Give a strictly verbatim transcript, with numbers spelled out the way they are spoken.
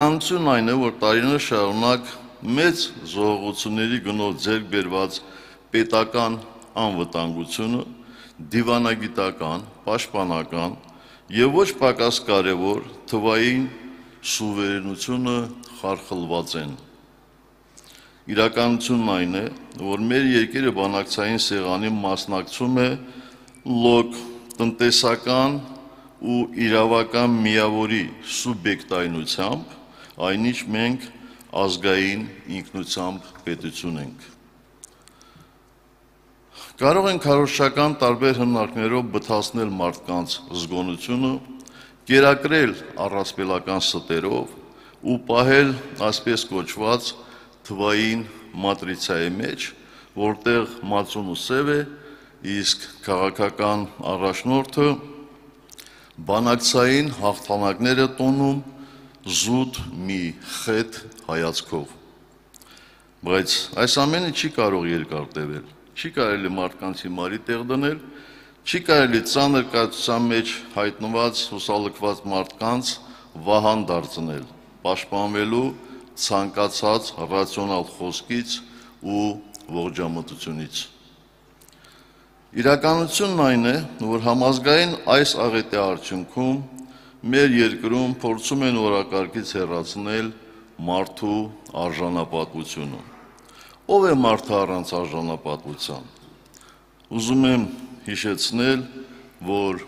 Իրականությունն այն է, որ տարիներ շարունակ մեծ զոհողությունների գնով ձեռք բերված պետական անվտանգությունը, դիվանագիտական, պաշտպանական եւ ոչ պակաս կարեւոր թվային սուվերենությունը խարխլված են։ Իրականությունն այն է, որ մեր երկիրը բանակցային սեղանի մասնակցում է լոկ տնտեսական ու իրավական միավորի սուբյեկտայնությամբ, այնինչ մենք ազգային ինքնությամբ պետություն ենք։ Կարող ենք քարոզչական տարբեր հիմնարկներով բթացնել մարդկանց զգոնությունը, կերակրել առասպելական ստերով ու պահել այսպես կոչված թվային մատրիցայի մեջ, որտեղ մածունը սև է, իսկ քաղաքական առաջնորդը բանակցային հաղթանակներ է տոնում զուտ մի խետ հայացքով։ Բայց այս ամենը չի կարող երկար տևել, չի կարելի մարդկանց հիմարի տեղ դնել, չի կարելի ծանր կայացության մեջ հայտնված հուսալքված մարդկանց վահան դարձնել, պաշտպանվելու ցանկացած ռացիոնալ խոսքից ու ողջամտությունից։ Իրականությունն այն է, որ համազգային այս աղետի արդյունքում մեր երկրում փորձում են օրակարգից հեռացնել մարդու արժանապատվությունը։ Ով է մարդը առանց արժանապատվության։ Ուզում եմ հիշեցնել, որ